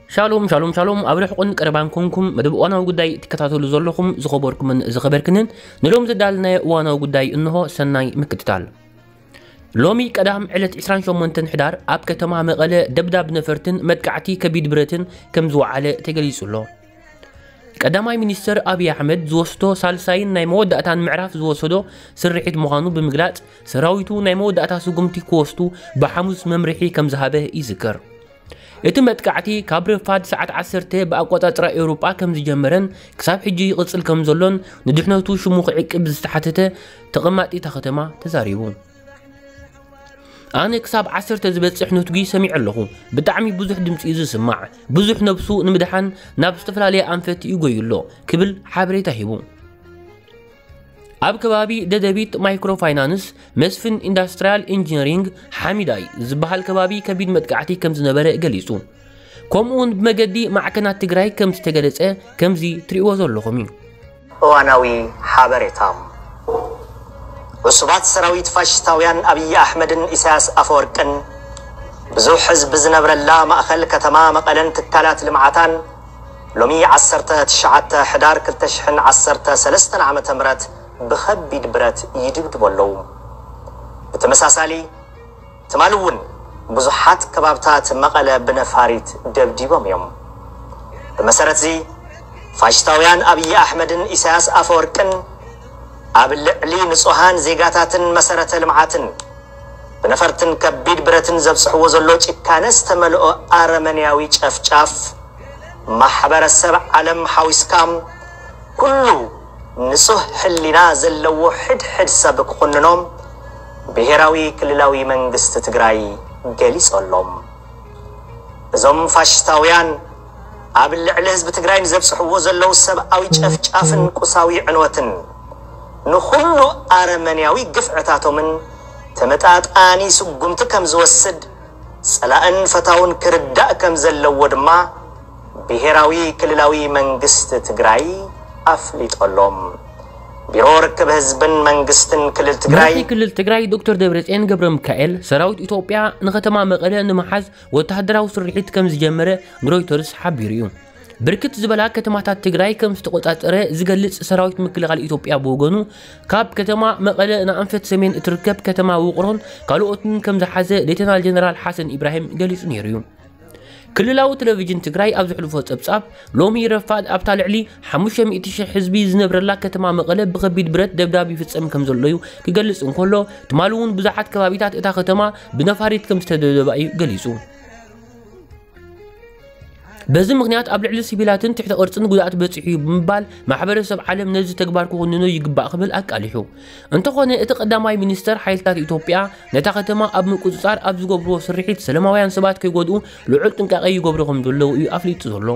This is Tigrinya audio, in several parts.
ሻሎም ሻሎም ሻሎም፣ ኣብ ርሕቁን ቀረባን ኮንኩም መደብ እዋናዊ ጉዳይ ትከታተሉ ዘለኹም ዝኸበርኩምን ዝኸበርክንን፣ ንሎም ዘዳልናዮ እዋናዊ ጉዳይ እንሆ። ሰናይ ምክትታል። ሎሚ ቀዳም ዕለት ዕስራን ሸሞንተን ሕዳር ኣብ ከተማ መቐለ ደብዳብ ነፈርትን መጥቃዕቲ ከቢድ ብረትን ከም ዝወዓለ ተገሊጹ ኣሎ። ቀዳማይ ሚኒስተር ኣብይ ኣሕመድ ዝወስዶ ሳልሳይን ናይ መወዳእታን ምዕራፍ ዝወሰዶ ስርሒት ምዃኑ ብምግላጽ፣ ሰራዊቱ ናይ መወዳእታ ስጉምቲ ክወስዱ ብሓሙስ መምርሒ ከም ዝሃበ ይዝከር። እቲ መጥቃዕቲ ካብ ረፋድ ሰዓት ዓሰርተ ብኣቆጻጽራ ኤውሮጳ ከም ዝጀመረን ክሳብ ሕጂ ይቕጽል ከም ዘሎን ንድሕነቱ ሽሙ ክዕቅብ ዝተሓተተ ተቐማጢ እታ ከተማ ተዛሪቡ። ኣነ ክሳብ ዓሰርተ ዝበጽሕ ነትጒ ሰሚዐ ኣለኹ። ብጣዕሚ ብዙሕ ድምጺ እዩ ዝስማዕ። ብዙሕ ነብሱ ንምድሓን ናብ ዝተፈላለየ ኣንፈት ይጎዩ ኣሎ ክብል ሓበሬታ ሂቡ። ኣብ ከባቢ ደደቢት ማይክሮ ፋይናንስ መስፍን ኢንዳስትሪያል ኢንጂነሪንግ ሓሚዳይ ዝበሃል ከባቢ ከቢድ መጥቃዕቲ ከም ዝነበረ ገሊጹ። ከምኡ እውን ብመገዲ ማዕከናት ትግራይ ከም ዝተገለጸ ከምዚ ትርእይዎ ዘለኹም እዩ። እዋናዊ ሓበሬታ። ዕሱባት ሰራዊት ፋሽስታውያን ኣብይ ኣሕመድን ኢሳያስ ኣፈወርቅን ብዙሕ ህዝቢ ዝነብረላ ማእኸል ከተማ መቐለን ትካላት ልምዓታን ሎሚ ዓሰርተ ትሽዓተ ሕዳር ክልተ ሽሕን ዓሰርተ ሰለስተን ዓመተ ምህረት ብኸቢድ ብረት ይድብድቡ ኣለዉ። ብተመሳሳሊ ትማሊ እውን ብዙሓት ከባብታት መቐለ ብነፋሪት ደብዲቦም እዮም። ብመሰረት እዚ ፋሽስታውያን ኣብይ ኣሕመድን ኢሳያስ ኣፈወርቅን ኣብ ልዕሊ ንጹሃን ዜጋታትን መሰረተ ልምዓትን ብነፈርትን ከቢድ ብረትን ዘብጽሕዎ ዘሎ ጭካነ ዝተመልኦ ኣረመኔያዊ ጨፍጫፍ ማሕበረሰብ ዓለም ሓዊስካ ኩሉ ንጹህ ሕሊና ዘለዎ ሕድሕድ ሰብ ክኹንኖም ብሄራዊ ክልላዊ መንግስቲ ትግራይ ገሊጹ ኣሎ። እዞም ፋሽስታውያን ኣብ ልዕሊ ህዝቢ ትግራይ ንዘብጽሕዎ ዘለዉ ሰብኣዊ ጨፍጫፍን ቁሳዊ ዕንወትን ንኹሉ ኣረመንያዊ ግፍዕታቶምን ተመጣጣኒ ስጉምቲ ከም ዝወስድ ጸላእን ፈታውን ክርዳእ ከም ዘለዎ ድማ ብሄራዊ ክልላዊ መንግስቲ ትግራይ ኣፍሊጡ ኣሎ። ቢሮ ርክብ ህዝብን መንግስትን ክልል ትግራይ። መራሒ ክልል ትግራይ ዶክተር ደብረጽዮን ገብረ ሚካኤል ሰራዊት ኢትዮጵያ ንከተማ መቐለ ንምሓዝ ወተሃደራዊ ስርሒት ከም ዝጀመረ ንሮይተርስ ሓቢሩ እዩ። ብርክት ዝበላ ከተማታት ትግራይ ከም ዝተቆጻጸረ ዝገልጽ ሰራዊት ምክልኻል ኢትዮጵያ ብወገኑ፣ ካብ ከተማ መቐለ ንኣንፈት ሰሜን እትርከብ ከተማ ውቕሮን ካልኦትን ከም ዝሓዘ ሌተናል ጀነራል ሓሰን ኢብራሂም ገሊጹ ነይሩ እዩ። ክልላዊ ቴሌቪዥን ትግራይ ኣብ ዘሕልፎ ጸብጻብ፣ ሎሚ ረፋድ ኣብታ ልዕሊ ሓሙሽተ ሚእቲ ሺሕ ህዝቢ ዝነብረላ ከተማ መቐለ ብኸቢድ ብረት ደብዳብ ይፍጸም ከም ዘሎ እዩ ክገልጽ እንከሎ፣ ትማሊ እውን ብዙሓት ከባቢታት እታ ከተማ ብነፋሪት ከም ዝተደብደባ እዩ ገሊጹ። በዚ ምኽንያት ኣብ ልዕሊ ሲቪላትን ትሕተ ቅርጽን ጉድኣት በጺሑ እዩ ብምባል፣ ማሕበረሰብ ዓለም ነዚ ተግባር ክኹንኖ ይግባእ ክብል ኣቃሊሑ። እንተኾነ፣ እቲ ቀዳማይ ሚኒስተር ሓይልታት ኢትዮጵያ ነታ ከተማ ኣብ ምቁጽጻር ኣብ ዝገብርዎ ስርሒት ሰላማውያን ሰባት ከይጎድኡ ልዑል ጥንቃቄ ይገብሩ ከም ዘለዉ እዩ ኣፍሊጡ ዘሎ።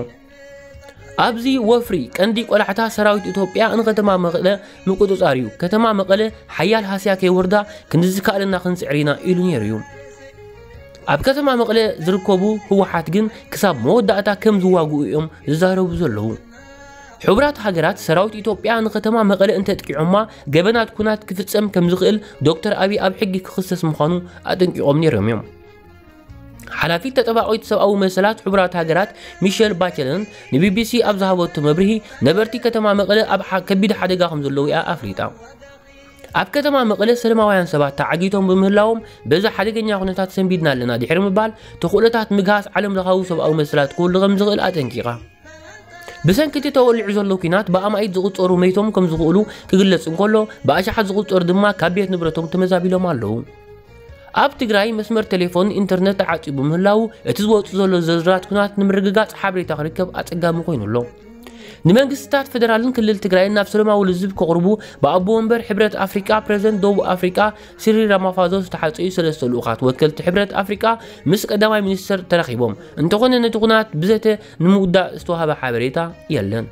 ኣብዚ ወፍሪ ቀንዲ ቆላሕታ ሰራዊት ኢትዮጵያ ንከተማ መቐለ ምቁጽጻር እዩ። ከተማ መቐለ ሓያል ሃስያ ከይወርዳ ክንዲ ዝከኣለና ክንጽዕር ኢና ኢሉ ነይሩ እዩ። ኣብ ከተማ መቐለ ዝርከቡ ህወሓት ግን ክሳብ መወዳእታ ከም ዝዋግኡ እዮም ዝዛረቡ ዘለዉ። ሕቡራት ሃገራት ሰራዊት ኢትዮጵያ ንከተማ መቐለ እንተጥቂዖማ ገበናት ኩናት ክፍጸም ከም ዝኽእል ዶክተር ኣቢይ ኣብ ሕጊ ክኽሰስ ምዃኑ ኣጠንቂቖም ነይሮም እዮም። ሓላፊት ተጠባቂት ሰብኣዊ መሰላት ሕቡራት ሃገራት ሚሸል ባቸለን ንቢቢሲ ኣብ ዝሃበቶ መብርሂ፣ ነበርቲ ከተማ መቐለ ኣብ ሓ-፣ ከቢድ ሓደጋ ከም ዘለዉ እያ ኣፍሊጣ። ኣብ ከተማ መቐለ ሰላማውያን ሰባት ተዓጊቶም ብምህላዎም፣ በዚ ሓደገኛ ኩነታት ሰንቢድና ኣለና ድሕሪ ምባል፣ ተኽእሎታት ምግሃስ ዓለም ለኻዊ ሰብኣዊ መሰላት ክህሉ ከም ዝኽእል ኣጠንቂቓ። ብሰንኪ እቲ ተወሊዑ ዘሎ ኲናት ብኣማኢት ዝቑጸሩ መይቶም ከም ዝኽእሉ ክግለጽ እንከሎ፣ ብኣሽሓት ዝቑጸሩ ድማ ካብ ቤት ንብረቶም ተመዛቢሎም ኣለዉ። ኣብ ትግራይ መስመር ቴሌፎን ኢንተርነት ተዓጽዩ ብምህላዉ፣ እቲ ዝወጽእ ዘሎ ዝርዝራት ኲናት ንምርግጋጽ ሓበሬታ ክርከብ ኣጸጋሚ ኮይኑ ኣሎ። ንመንግስታት ፌደራልን ክልል ትግራይን ናብ ሰላማዊ ልዝብ ከቕርቡ ብኣቦ ወንበር ሕብረት ኣፍሪቃ ፕሬዝደንት ደቡብ ኣፍሪቃ ሲሪል ራማፋዞ ዝተሓጸዩ ሰለስተ ልኡኻት ወከልቲ ሕብረት ኣፍሪቃ ምስ ቀዳማይ ሚኒስተር ተራኺቦም። እንተኾነ ነቲ ኩናት ብዘተ ንምውዳእ ዝተዋህበ ሓበሬታ የለን።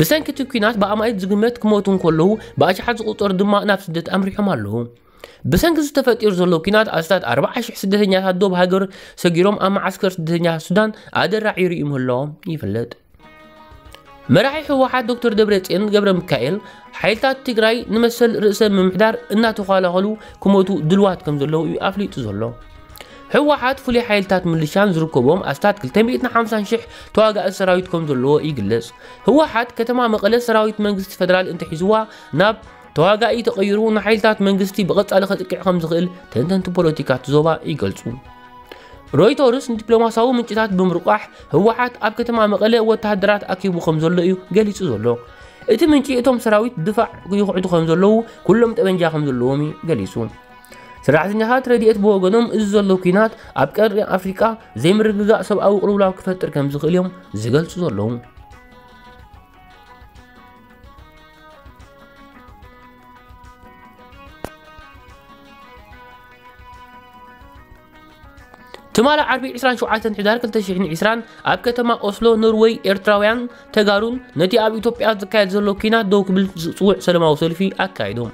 ብሰንኪ እቲ ኲናት ብኣማኢት ዝግመት ክሞቱ እንከለዉ ብኣሽሓት ዝቑጸሩ ድማ ናብ ስደት ኣምሪሖም ኣለዉ። ብሰንኪ ዝተፈጢሩ ዘሎ ኲናት ኣስታት ኣርባዓ ሽሕ ስደተኛታት ዶብ ሃገር ሰጊሮም ኣብ መዓስከር ስደተኛታት ሱዳን ኣደራዒሩ ምህላዎም ይፍለጥ። መራሒ ህወሓት ዶክተር ደብረጽዮን ገብረ ሚካኤል፣ ሓይልታት ትግራይ ንመሰል ርእሰ ምምሕዳር እናተኸላኸሉ ክሞቱ ድልዋት ከም ዘለዉ እዩ ኣፍሊጡ ዘሎ። ህወሓት ፍሉይ ሓይልታት ምልሻን ዝርከቦም ኣስታት ክልተ ሚእትን ሓምሳን ሽሕ ተዋጋኢ ሰራዊት ከም ዘለዎ ይግለጽ። ህወሓት ከተማ መቐለ ሰራዊት መንግስቲ ፌደራል እንተሒዝዋ ናብ ተዋጋኢ ተቐይሩ ንሓይልታት መንግስቲ ብቐጻሊ ከጥቅዕ ከም ዝኽእል ተንተንቲ ፖለቲካ እቲ ዞባ ይገልጹ። ሮይተርስ ንዲፕሎማሲያዊ ምንጭታት ብምርቋሕ ህወሓት ኣብ ከተማ መቐለ ወተሃደራት ኣኪቡ ከም ዘሎ እዩ ገሊጹ ዘሎ። እቲ ምንጪ እቶም ሰራዊት ድፋዕ ይኹዕቱ ከም ዘለዉ ኩሎም ጠበንጃ ከም ዘለዎም እዩ ገሊጹ። ሰራሕተኛታት ረድኤት ብወገኖም እዚ ዘሎ ኲናት ኣብ ቀርኒ ኣፍሪቃ ዘይምርግጋእ ሰብኣዊ ቅልውላው ክፈጥር ከም ዝኽእል እዮም ዝገልጹ ዘለዉ። ትማሊ ዓርቢ ዕስራን ሸውዓተን ሕዳር ክልተ ሽሕን ዕስራን ኣብ ከተማ ኦስሎ ኖርወይ ኤርትራውያን ተጋሩን ነቲ ኣብ ኢትዮጵያ ዝካየድ ዘሎ ኲናት ደው ክብል ዝጽውዕ ሰላማዊ ሰልፊ ኣካይዶም።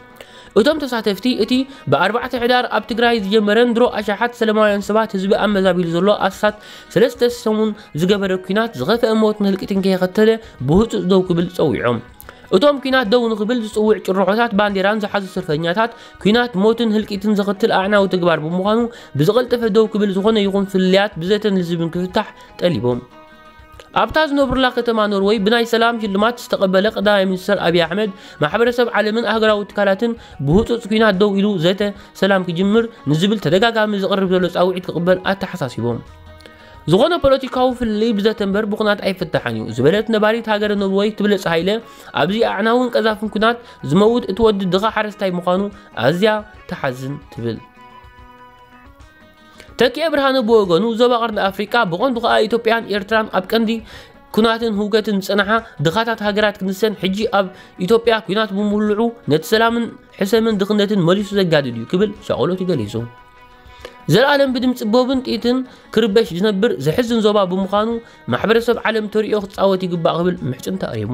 እቶም ተሳተፍቲ እቲ ብኣርባዕተ ሕዳር ኣብ ትግራይ ዝጀመረን ድሮ ኣሽሓት ሰላማውያን ሰባት ህዝቢ ኣመዛቢሉ ዘሎ ኣስታት ሰለስተ ሰሙን ዝገበረ ኲናት ዝኸፍአ ሞትን ህልቂትን ከየኸተለ ብህጹጽ ደው ክብል ጸዊዖም። እቶም ኲናት ደው ንኽብል ዝጽውዕ ጭርሖታት ባንዴራን ዝሓዙ ሰልፈኛታት ኲናት ሞትን ህልቂትን ዘኸትል ኣዕናዊ ተግባር ብምዃኑ ብዝቐልጠፈ ደው ክብል ዝኾነ ይኹን ፍልልያት ብዘተን ልዝብን ክፍታሕ ጠሊቦም። ኣብታ ዝነብሩላ ከተማ ኖርወይ ብናይ ሰላም ሽልማት ዝተቐበለ ቀዳማይ ሚኒስተር ኣብይ ኣሕመድ ማሕበረሰብ ዓለምን ኣህጉራዊ ትካላትን ብህጹጽ ኲናት ደው ኢሉ ዘተ ሰላም ክጅምር ንዝብል ተደጋጋሚ ዝቐርብ ዘሎ ጻውዒት ክቕበል ኣተሓሳሲቦም። ዝኾነ ፖለቲካዊ ፍልልይ ብዘተ እምበር ብኹናት ኣይፍታሕን እዩ ዝበለት ነባሪት ሃገረ ኖርወይ ትብለጽ ሃይለ፣ ኣብዚ ኣዕናውን ቀዛፍን ኩናት ዝመውት እቲ ወዲ ድኻ ሓረስታይ ምዃኑ ኣዝያ ትሓዝን ትብል። ተኪኤ ብርሃነ ብወገኑ ዞባ ቀርኒ ኣፍሪቃ ብቐንዱ ከኣ ኢትዮጵያን ኤርትራን ኣብ ቀንዲ ኩናትን ህውከትን ዝጸንሓ ድኻታት ሃገራት ክንሰን ሕጂ ኣብ ኢትዮጵያ ኩናት ብምህልዑ ነቲ ሰላምን ሕሰምን ድኽነትን መሊሱ ዘጋድድ እዩ ክብል ሻቕሎቱ ገሊጹ። ዘላለም ብድምፂ ቦብን ጥይትን ክርበሽ ዝነብር ዘሕዝን ዞባ ብምዃኑ ማሕበረሰብ ዓለም ተሪኦ ክፃወት ይግባእ ክብል ምሕፅንታ ኣቕሪቡ።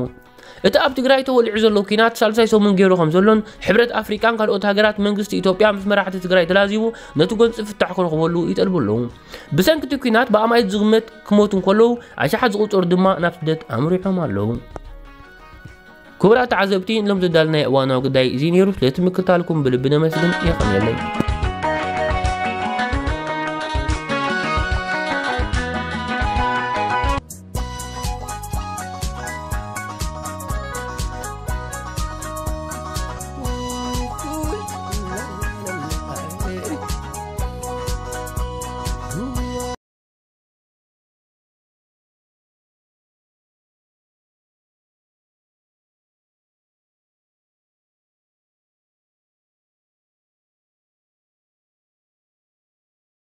እቲ ኣብ ትግራይ ተወሊዑ ዘሎ ኲናት ሳልሳይ ሰሙን ገይሩ ከም ዘሎን ሕብረት ኣፍሪቃን ካልኦት ሃገራት መንግስቲ ኢትዮጵያ ምስ መራሕቲ ትግራይ ተላዚቡ ነቲ ጎንፂ ፍታሕ ክረኽበሉ ይጠልቡ ኣለዉ። ብሰንኪ እቲ ኲናት ብኣማኢት ዝግመት ክሞቱ እንከለዉ ኣሽሓት ዝቑፀሩ ድማ ናብ ስደት ኣምሪሖም ኣለዉ። ክቡራት ተዓዘብቲ ንሎም ዘዳልናዮ እዋናዊ ጉዳይ እዚ ነይሩ። ስለቲ ምክታልኩም ብልቢ ነመስግን። የቐንየለይ።